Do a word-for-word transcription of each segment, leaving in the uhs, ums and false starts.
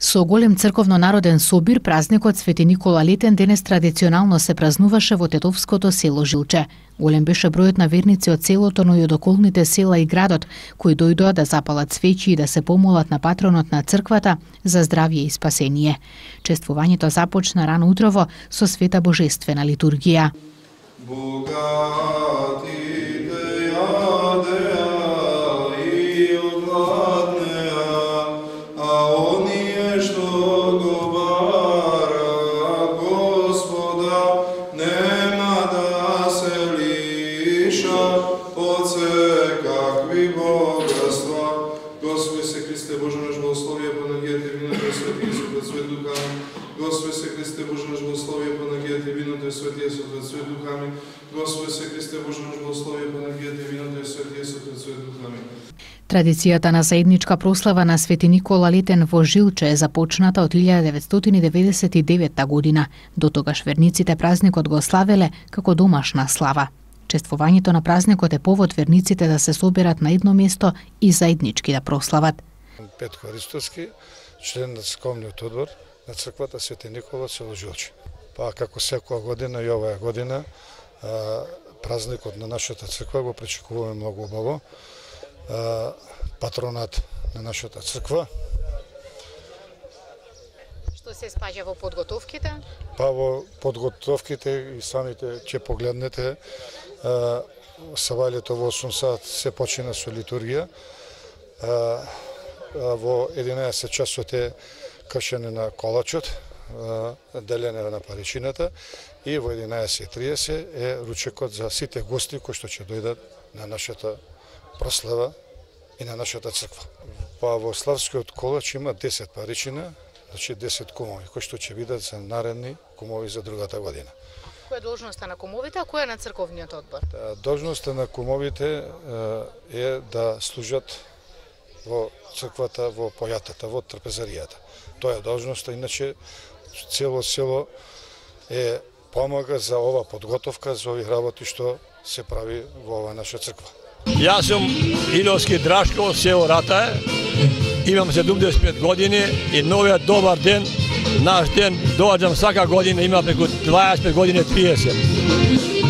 Со голем црковно-народен собир, празникот Свети Никола Летен денес традиционално се празнуваше во тетовското село Жилче. Голем беше бројот на верници од селото, но и од околните села и градот, кои дојдоа да запалат свеќи и да се помолат на патронот на црквата за здравје и спасение. Чествувањето започна рано утрово со света божествена литургија. Господи се Христе Боже наш благослови Панагијата и виното и светија со Твој свет духами. Господи се Христе Боже наш благослови Панагијата и виното и светија со Твој свет духами. Традицијата на заедничка прослава на Свети Никола Летен во Жилче е започната од илјада деветстотини деветдесет и девета година. До тогаш верниците празникот го славеле како домашна слава. Чествувањето на празникот е повод верниците да се соберат на едно место и заеднички да прослават. Петко Ристовски, член на црковниот одбор на црквата Свети Никола село Жилче. Па како секоја година и оваа година празникот на нашата црква го пречекуваме многу убаво. Патронат на нашата црква. Што се спаѓа во подготовките? Па во подготовките и самите ќе погледнете, савалето во осум сат се почина со литургија. Во единаесет часот е кршене на колачот, делене на паричината и во единаесет и триесет е ручекот за сите гости кои што ќе дојдат на нашата прослава и на нашата црква. Па во славскиот колач има десет паричина, значи десет кумови кои што ќе бидат за наредни кумови за другата година. Која е должноста на кумовите, а која е на црковниот одбор? Должноста на кумовите е да служат во црквата, во појатата, во трпезаријата. Тоа е должноста, иначе цело село е помага за ова подготовка, за овие работи што се прави во ова наша црква. Јас сум Иловски Драшко, село Ратае, имам седумдесет и пет години и новиот добар ден, наш ден, доаѓам сака година, има преку дваесет и пет години, триесет.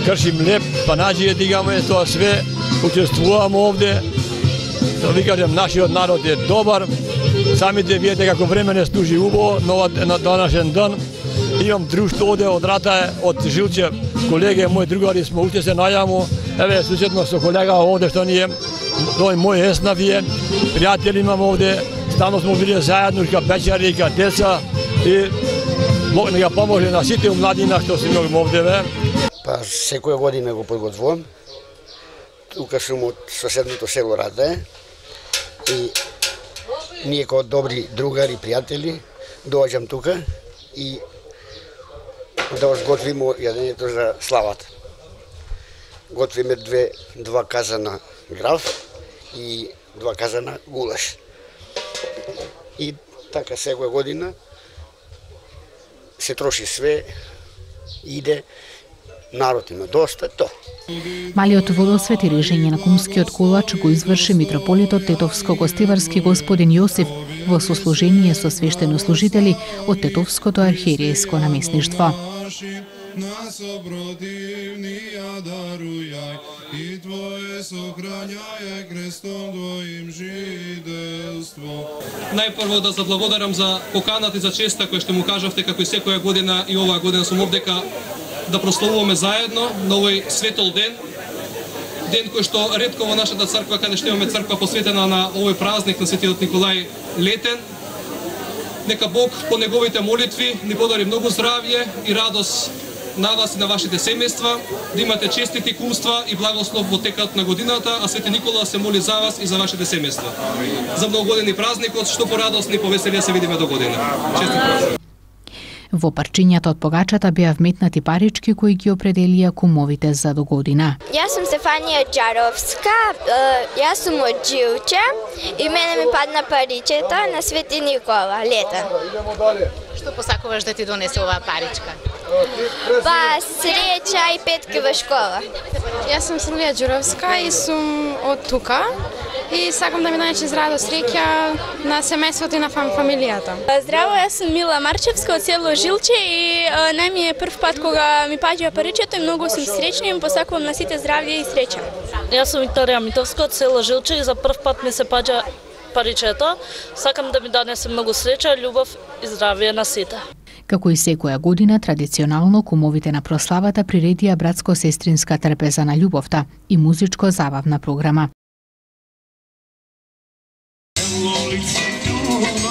Кршим леп, панаџије дигаме, тоа све, учествувам овде. Да ви кажем, нашиот народ е добар, самите видите како време не служи убаво на данашен ден. Имам друштво оде од Ратае, од Жилче, колеги, мои другари сме уште се најамо, еве суседно со колега овде што ние, тој мој еснав е, пријатели имам овде, стано сме били заедно, ка печари, ка деца и нека поможе на сите младина што си имам овде, ве. Па секоја година го подготвувам. Тука сум од соседното село Ратае и ние како добри другари, пријатели, доаѓам тука и да готвиме јадењето за славата. Готвиме две, два казана граф и два казана гулаш. И така секоја година се троши све, иде, народ има доста, то. Малиот водосвет и режење на кумскиот колач го изврши митрополитот Тетовско-Гостиварски господин Јосиф во сослужение со свештенослужители од Тетовското архиерејско наместништво. Нас опротивни ја дарујај и Твое сохрањај крестом Твоим жиделство. Најпрво да заблагодарам за поканата и за честа која што му кажавте како и секоја година и оваа година сум овдека да прославуваме заедно на овој светол ден. Ден кој што ретко во нашата црква, каде што имаме црква посветена на овој празник на Светиот Николај Летен. Нека Бог по неговите молитви ни подари многу здравје и радост на вас и на вашите семејства, да имате честити кумства и благослов во текот на годината, а Свети Никола се моли за вас и за вашите семејства. За многогодини празникот, што порадосни и повесели се видиме до година. Честит празник. Во парчињата од погачата беа вметнати парички кои ги определија кумовите за до година. Јас сум Стефанија Џаровска, јас сум од Жилче и мене ми падна паричета на Свети Никола Летен. Што посакуваш да ти донесе оваа паричка? Па среќа и петки во школа. Јас сум Силвија Џуровска и сум од тука и сакам да ми донесе здраво среќа на семејството и на фам, фамилијата. Здраво, јас сум Мила Марчевска од село Жилче и нај ми е прв пат кога ми паѓа паричето и многу сум среќна и им посакувам на сите здравје и среќа. Јас сум Викторија Митовска од село Жилче и за прв пат ми се паѓа паричето. Сакам да ми донесе многу среќа, љубов и здравје на сите. Како и секоја година, традиционално кумовите на прославата приредија братско-сестринска трпеза на љубовта и музичко-забавна програма. Lice ljubav